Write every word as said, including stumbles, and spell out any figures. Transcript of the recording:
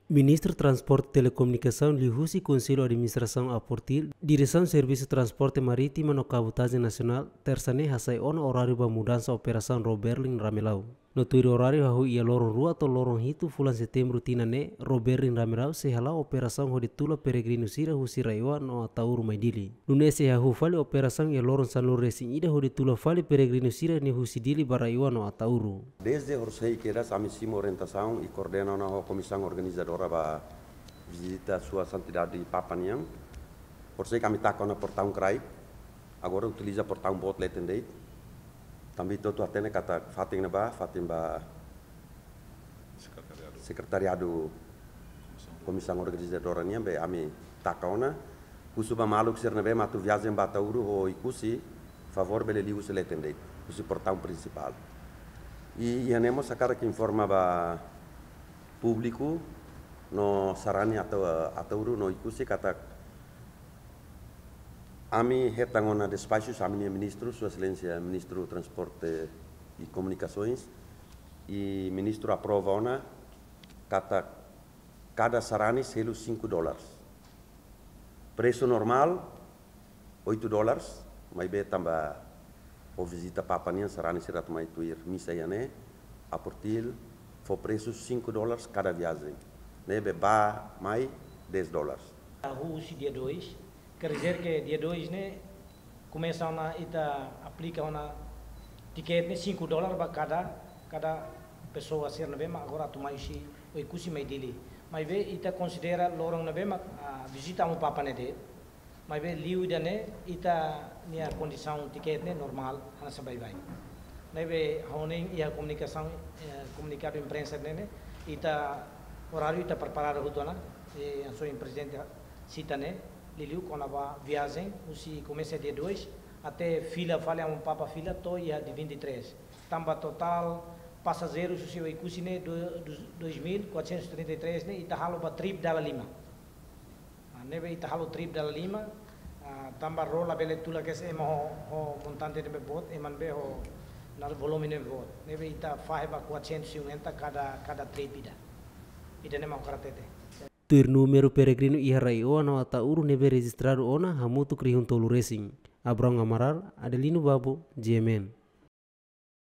Ministru Transporte Telekomunikasaun liuhusi Konsellu Administrasaun Aportil, Diresaun Servisu Transporte Marítima no Kabotajen Nasionál, Tersa ne'e hasai ona oráriu ba mudansa operasaun Ró Berlim Ramelau. No tuir oráriu hahú iha loron rua to'o loron hitu fulan Setembru tinan ne'e, Ró Berlim Ramelau sei hala'o operasaun hodi tula peregrinu sira husi RAEOA no Ataúro mai Dili. Nune'e sei hahú fali operasaun iha loron sanulu-resin-ida hodi tula fali peregrinu sira-ne'e husi Dili ba RAEOA no Ataúro. Dezde horisehik kedas ami simu orientasaun i koordena ona ho komisaun organizadora ba vizita Sua Santidade Papa nian. Horisehik ami taka ona portaun kraik, agora utiliza portaun boot leten de'it. Tanba ita hotu hatene katak fatin ne'ebá, fatin ba sekretariadu komisaun organizadora nian be ami taka ona. Husu ba maluk sira ne'ebé mak atu viajen ba Ataúro ho Oekusi, favór bele liu husi leten de'it, husi portaun prinsipál. I iha ne'e mós hakarak informa ba públiku no sarani Ata-, Ataúro no Oekusi katak ami hetan ona despaxu husi ami-nia ministru, Sua Exelénsia Ministru Transporte i Komunikasoens, i ministru aprova ona katak kada sarani selu cinco dólares. Presu normál, oito dólares, maibé tanba ho vizita Papa nian sarani sira atu mai tuir misa iha ne'e, Aportil fó presu cinco dólares kada viajen. Ne'ebé ba mai dez dólares. Hahú husi dia dois, quer dizer que dia dois ne'e komesa ona ita aplika ona tikete ne'e cinco dólares ba kada, kada pesoa sira ne'ebé mak agora atu mai husi Oekusi mai Dili. Maibé ita konsidera loron ne'ebé mak, ah, vizita Amu Papa ne'e de'it. Maibé liu ida-ne'e ita-nia kondisaun tikete ne'e normál, hanesan baibain. Ne'ebé ha'u hanoin iha komunikasaun, eh, komunikadu imprensa ne'e, ne'e, ita oráriu ita preparadu hotu ona, eh, hanesan prezidente sita ne'e, liuliu kona-ba viajen, husi komesa dia dois, até fila fali Amu Papa fila to'o iha dia vinte e três. Tanba totál pasajeirus husi Oekusi ne'e do-, dos dois mil quatrocentos e trinta e três ne'e, ita halo ba trip dala lima. Ah, ne'ebé ita halo trip dala lima, ah, tanba Ró labele tula kedas ema ho, ho montante ne'ebé boot, ema ne'ebé ho, na volume ne'ebé boot. Ne'ebé ita fahe ba quatrocentos e cinquenta kada, kada trip ida. Ida-ne'e mak ha'u hakarak hatete. Tuir númeru peregrinu iha RAEOA no Ataúro ne'ebé rejistradu ona hamutuk rihun tolu resin. Abrão Amaral, Adelino Babo, G M N.